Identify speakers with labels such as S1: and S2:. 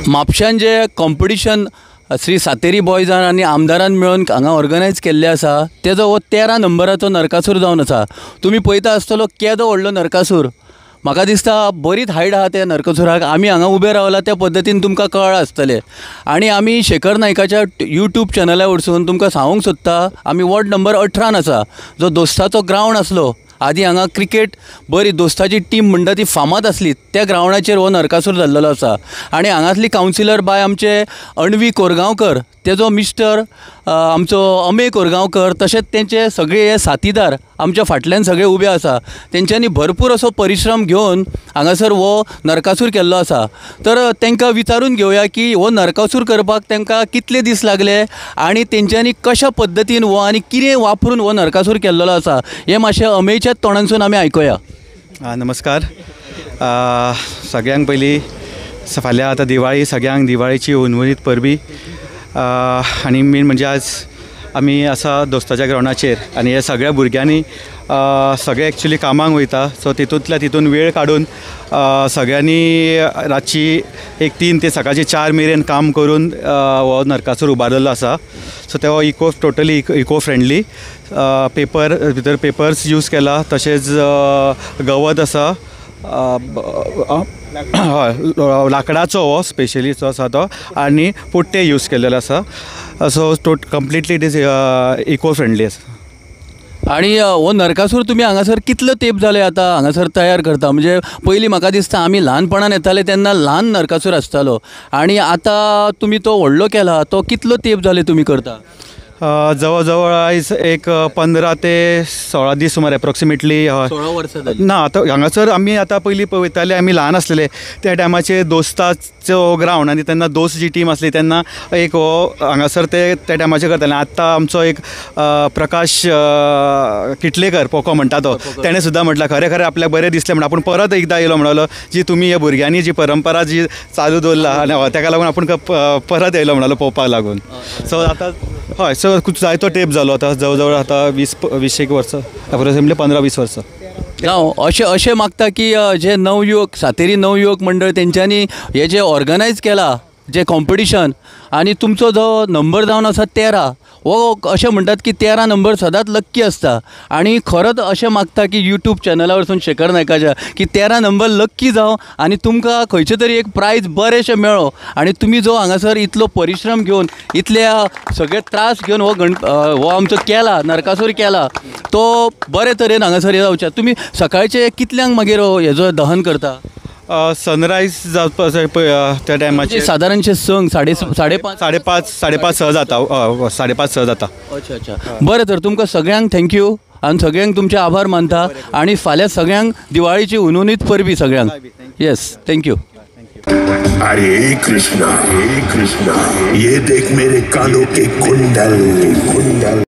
S1: म्हापश्यान जे competition Shri Sateri बॉयजान आनी आमदारान मेळून हांगा ऑर्गनायज केल्ले आसा तेजो हो 13 नंबराचो नरकासूर जावन आसा। तुमी पळयता आसतलो केदो व्हडलो नरकासूर, म्हाका दिसता बरीच हायट आहा त्या नरकासुराक। आमी हांगा उबे रावला त्या पद्दतीन तुमकां कळ्ळां आसतलें। आनी आमी शेखर नायकाच्या यूट्यूब चॅनला वरसून तुमकां सांगूंक सोदता, आमी वॉर्ड नंबर 18 आसा, जो दोस्ताचो ग्रावंड आसलो आदी हांगा क्रिकेट बरी दोस्ताची टीम म्हणटा ती फामाद आसली, त्या ग्रावंडाचेर हो नरकासूर जाल्लो आसा। आनी हांगासली कावन्सिलर बाय आमचे अण्वी कोरगांवकर, तेजो मिस्टर आमचो अमे कोरगांवकर, तशेंच तेंचे सगळे हे साथीदार आमच्या फाटल्यान सगळे उबे आसा। तेंच्यांनी भरपूर असो परिश्रम घेवन हांगासर हो नरकासूर केल्लो आसा। तर तांकां विचारून घेवया की हो नरकासूर करपाक तांकां कितले दीस लागले आनी तेंच्यांनी कशा पद्दतीन हो आनी कितें वापरून हो नरकासूर केल्लो आसा, हें मातशें अमेच्या तोंडांसून आमी आयकुया।
S2: नमस्कार सगळ्यांक पयलीं फाल्यां आतां दिवाळी, सगळ्यांक दिवाळीची हुनहुनीत परबी। आनी मेन म्हणजे आज आमी आसा दोस्ताच्या ग्रावंडाचेर आनी हे सगळ्या भुरग्यांनी सगळे एक्चुली कामाक वयता, सो तितूंतल्या तितून वेळ काडून सगळ्यांनी रातची एक 3 ते सकाळची 4 मेरेन काम करून हो नरकासूर उबारलेलो आसा। सो तो eco totally eco friendly, paper भितर पेपर्स यूज केला, तशेंच गवत आसा, हय लांकडाचो हो स्पेशली जो आसा तो, आनी पुट्टे यूज केलेले आसा। So completely it is eco friendly आसा।
S1: आनी हो नरकासूर तुमी हांगासर कितलो तेंप जाले आतां हांगासर तयार करता? म्हणजे पयलीं म्हाका दिसता आमी ल्हानपणान येताले तेन्ना ल्हान नरकासूर आसतालो आनी आतां तुमी तो व्हडलो केला, तो कितलो तेंप जाले तुमी करता?
S2: जवळ जवळ आयज एक 15 ते 16 दीस सुमार एप्रोक्सिमेटली।
S1: 16 वर्सां जालीं
S2: ना आतां हांगासर आमी आतां पयलीं वयताले, आमी ल्हान आसलेले त्या टायमाचेर दोस्ताचो ग्रावंड आनी तेन्ना दोस्त जी टीम आसली तेन्ना एक हो हांगासर ते त्या टायमाचेर करताले। आतां आमचो एक प्रकाश किटलेकर पोको म्हणटा तो, तेणें सुद्दां म्हटलां खरें खरें आपल्याक बरें दिसलें म्हण आपूण परत एकदां येयलो म्हणलो, जी तुमी ह्या भुरग्यांनी जी परंपरा जी चालू दवरला आनी तेका लागून आपूण परत येयलो म्हणलो पळोवपाक लागून। सो आतां हय, सो जायतो टेप जालो आतां जवळ जवळ आतां 20-20 वर्सां एप्रोक्सिमेटली 15-20 वर्सां।
S1: जावं अशें अशें मागता की जे नवयुवक सातेरी नवयुवक मंडळ तेंच्यांनी हे जे ऑर्गनायज केला जे कॉम्पिटिशन आनी तुमचो जो नंबर जावन आसा 13, हो अशें म्हणटात की 13 नंबर सदांच लक्की आसता आनी खरोच अशें मागता की यूट्यूब चॅनला वरसून शेखर नायकाच्या की 13 नंबर लक्की जावं आनी तुमकां खंयचें तरी एक प्रायज बरेंशें मेळो आनी तुमी जो हांगासर इतलो परिश्रम घेवन इतले सगळे त्रास घेवन हो हो आमचो केला नरकासूर केला तो बरे तरेन हांगासर जावचें। तुमी सकाळचे कितल्यांक मागीर हेजो दहन करता?
S2: सनरायज जावपा जाय पळय त्या टायमाचेर
S1: सादारणशें 6, 5:30,
S2: 5:30, 6 जाता, 5:30, 6 जाता।
S1: अच्छा अच्छा, बरें, तर तुमकां सगळ्यांक thank you आनी सगळ्यांक तुमचे आभार मानता आनी फाल्यां सगळ्यांक दिवाळीची हुनहुनीत परबी सगळ्यांक। Yes, thank you.
S3: अरे कृष्णा, हे कृष्णा, ये देख मेरे कानों के कुंडल कुंडल।